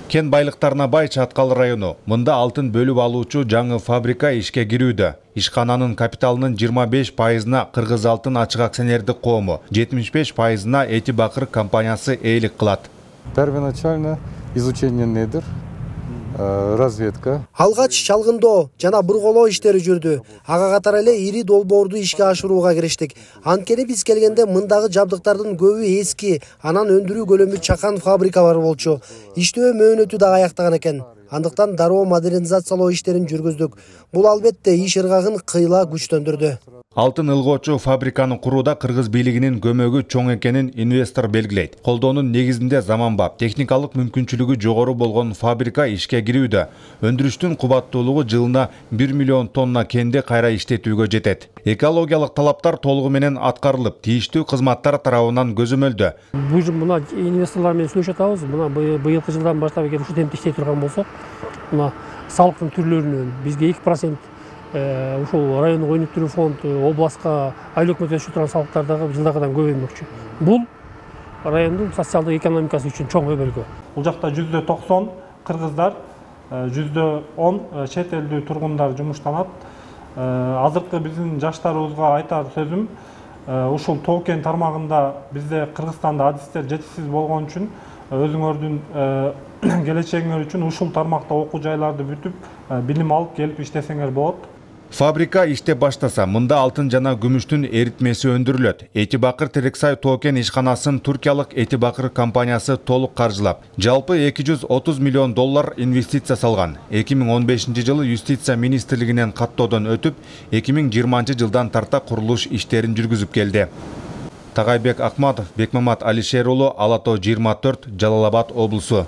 Кен байлыктарына бай Чаткал району. Мында алтын бөлүп алуучу жаңы фабрика ишке кирүүдө. Ишкананын капиталынын 25%-на Кыргыз алтын ачык акционердик коому, 75%-на Эти Бакыр компаниясы ээлик кылат. Первоначально изучение недр, разведка. Алгач чалгындоо жана бурголоо иштери жүрдү. Ага катары эле ири долбоорду ишке ашырууга кириштик. Анткени биз келгенде мындагы жабдыктардын көбү эски, анан өндүрүү көлөмү чакан фабрикалар болчу. Иштөө мөөнөтү да аяктаган экен. Андыктан дароо модернизациялоо иштерин жүргүздүк. Бул албетте иш ыргагын кыйла күчтөндүрдү. Алтын ылгоочу фабриканы курууда Кыргыз бийлигинин көмөгү чоң экенин инвестор белгилейт. Колдоонун негизинде заманбап, техникалык мүмкүнчүлүгү жогору болгон фабрика ишке кирүүдө. Өндүрүштүн кубаттуулугу жылына 1 миллион тонна кенди кайра иштетүүгө жетет. Экологиялык талаптар толугу менен аткарылып, тийиштүү кызматтар тарабынан көзөмөлдө. Мына инвесторлор менен сүйлөшүп атабыз. Мына быйылкы жылдан баштап эгер ушул темпте иштей турган болсок, мына салыктын түрлөрүнөн бизге 2% ушул райондук өнүктүрүү фонд, областка айлык өкмөт өсүп турган салыктардагы жылдагыдан көбөймөкчү. Бул райондун социалдык экономикасы үчүн чоң өбөлгө. Бул жакта %90 кыргыздар, %10 чет элдүү тургундар жумуштанат. Азыркы биздин жаштарыбызга айтар сөзүм, ушул тоо кен тармагында бизде Кыргызстанда адистер жетишсиз болгон үчүн өзүңөрдүн келечегиңер үчүн ушул тармакта окуу жайларды бүтүп, билим алып келип иштесеңер болот. Фабрика иштеп баштаса, мында алтын жана күмүштүн эритмеси өндүрүлөт. Эти Бакыр Терексай тоо кен ишканасын туркиялык Эти Бакыр компаниясы толук каржылап, жалпы $230 миллион инвестиция салган. 2015-жылы юстиция министрлигинен каттоодон өтүп, 2020 жылдан тарта курулуш иштерин жүргүзүп келди. Тагайбек Акматов, Бекмамат Алишер уулу, Ала Тоо 24, Жалал Абад облусу.